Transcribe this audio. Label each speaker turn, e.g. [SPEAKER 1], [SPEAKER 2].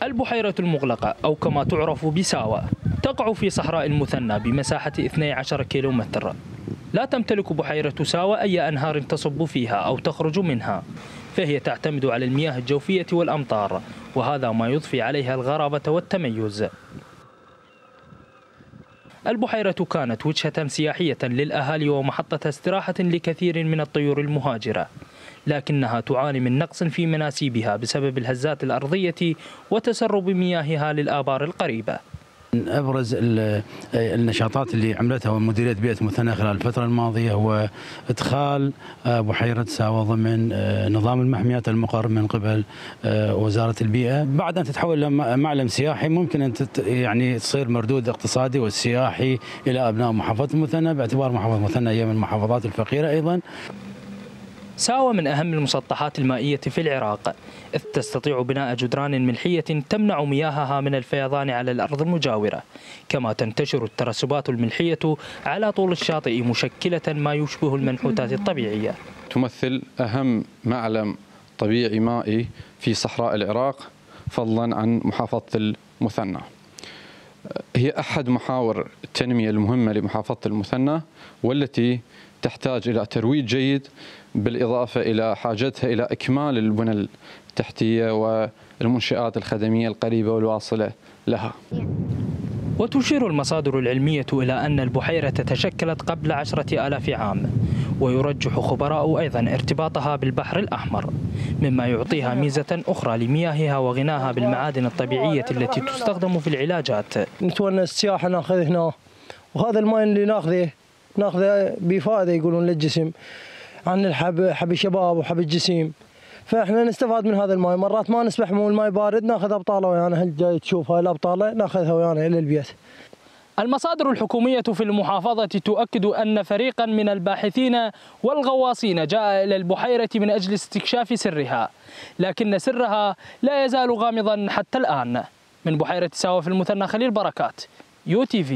[SPEAKER 1] البحيرة المغلقة أو كما تعرف بساوة تقع في صحراء المثنى بمساحة 12 كيلومتر. لا تمتلك بحيرة ساوة أي أنهار تصب فيها أو تخرج منها، فهي تعتمد على المياه الجوفية والأمطار، وهذا ما يضفي عليها الغرابة والتميز. البحيرة كانت وجهة سياحية للأهالي ومحطة استراحة لكثير من الطيور المهاجرة، لكنها تعاني من نقص في مناسيبها بسبب الهزات الأرضية وتسرب مياهها للآبار القريبة.
[SPEAKER 2] من أبرز النشاطات اللي عملتها مديرية بيئة المثنى خلال الفترة الماضية هو إدخال بحيرة ساوة ضمن نظام المحميات المقر من قبل وزارة البيئة. بعد أن تتحول إلى معلم سياحي ممكن أن يعني تصير مردود اقتصادي والسياحي إلى أبناء محافظة المثنى، باعتبار محافظة المثنى هي من المحافظات الفقيرة أيضا.
[SPEAKER 1] ساوة من أهم المسطحات المائية في العراق، إذ تستطيع بناء جدران ملحية تمنع مياهها من الفيضان على الأرض المجاورة، كما تنتشر الترسبات الملحية على طول الشاطئ مشكلة ما يشبه المنحوتات الطبيعية.
[SPEAKER 3] تمثل أهم معلم طبيعي مائي في صحراء العراق فضلا عن محافظة المثنى. هي أحد محاور التنمية المهمة لمحافظة المثنى، والتي تحتاج إلى ترويج جيد بالإضافة إلى حاجتها إلى إكمال البنى التحتية والمنشآت الخدمية القريبة والواصلة لها.
[SPEAKER 1] وتشير المصادر العلمية إلى أن البحيرة تشكلت قبل 10,000 عام، ويرجح خبراء أيضا ارتباطها بالبحر الأحمر، مما يعطيها ميزة أخرى لمياهها وغناها بالمعادن الطبيعية التي تستخدم في العلاجات.
[SPEAKER 4] نتونس السياحة ناخذ هنا، وهذا الماء اللي ناخذه بفائدة يقولون للجسم، عن الحب، حب الشباب وحب الجسيم، فاحنا نستفاد من هذا الماء. مرات ما نسبح مو الماء بارد ناخذ ابطاله ويانا، هل جاي تشوف هاي الابطاله ناخذها ويانا الى البيت.
[SPEAKER 1] المصادر الحكومية في المحافظة تؤكد أن فريقا من الباحثين والغواصين جاء إلى البحيرة من أجل استكشاف سرها، لكن سرها لا يزال غامضا حتى الآن. من بحيرة ساوة في المثنى، خليل بركات، UTV.